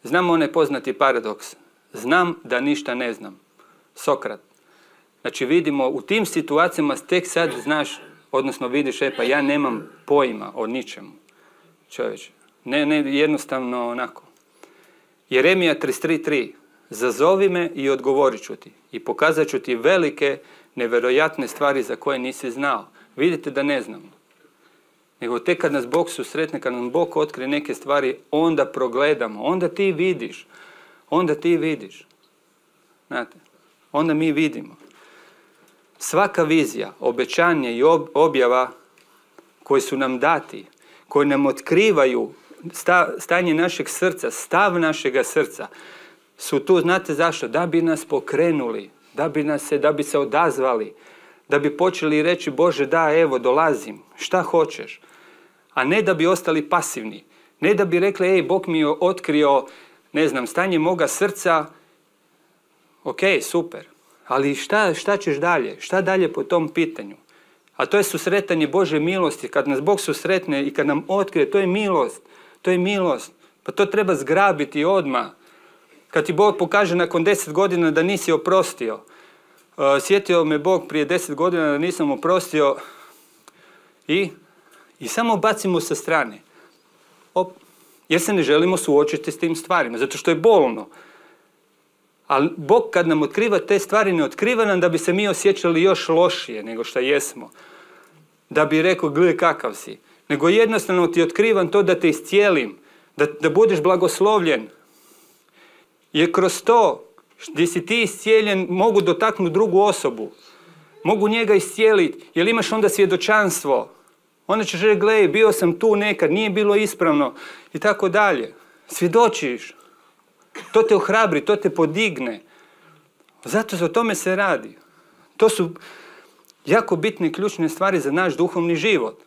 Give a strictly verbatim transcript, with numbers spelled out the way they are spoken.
Znamo onaj poznati paradoks. Znam da ništa ne znam. Sokrat. Znači vidimo u tim situacijama tek sad znaš, odnosno vidiš, e pa ja nemam pojma o ničemu. Čovječe. Ne, ne, jednostavno onako. Jeremija trideset tri tri. Zazovi me i odgovorit ću ti. I pokazat ću ti velike, nevjerojatne stvari za koje nisi znao. Vidite da ne znamo. Nego tek kad nas Bog susretne, kad nam Bog otkrije neke stvari, onda progledamo. Onda ti vidiš. Onda ti vidiš. Znate, onda mi vidimo. Svaka vizija, obećanje i objava koje su nam dati, koje nam otkrivaju stanje našeg srca, stav našega srca, su tu, znate zašto? Da bi nas pokrenuli, da bi, nas se, da bi se odazvali, da bi počeli reći, Bože, da, evo, dolazim, šta hoćeš? A ne da bi ostali pasivni. Ne da bi rekli, ej, Bog mi je otkrio, ne znam, stanje moga srca, ok, super, ali šta, šta ćeš dalje? Šta dalje po tom pitanju? A to je susretanje Bože milosti. Kad nas Bog susretne i kad nam otkrije, to je milost. To je milost. Pa to treba zgrabiti odmah. Kad ti Bog pokaže nakon deset godina da nisi oprostio. Uh, sjetio me Bog prije deset godina da nisam oprostio i, i samo bacimo sa strane. Op, jer se ne želimo suočiti s tim stvarima, zato što je bolno. Ali Bog kad nam otkriva te stvari, ne otkriva nam da bi se mi osjećali još lošije nego što jesmo. Da bi rekao, gle kakav si. Nego jednostavno ti otkrivam to da te iscijelim, da, da budeš blagoslovljen. Jer kroz to gdje si ti iscijeljen mogu dotaknuti drugu osobu. Mogu njega iscijeliti, jer imaš onda svjedočanstvo. Onda ćeš reći, gle, bio sam tu nekad, nije bilo ispravno i tako dalje. Svjedočiš. To te ohrabri, to te podigne. Zato o tome se radi. To su jako bitne i ključne stvari za naš duhovni život.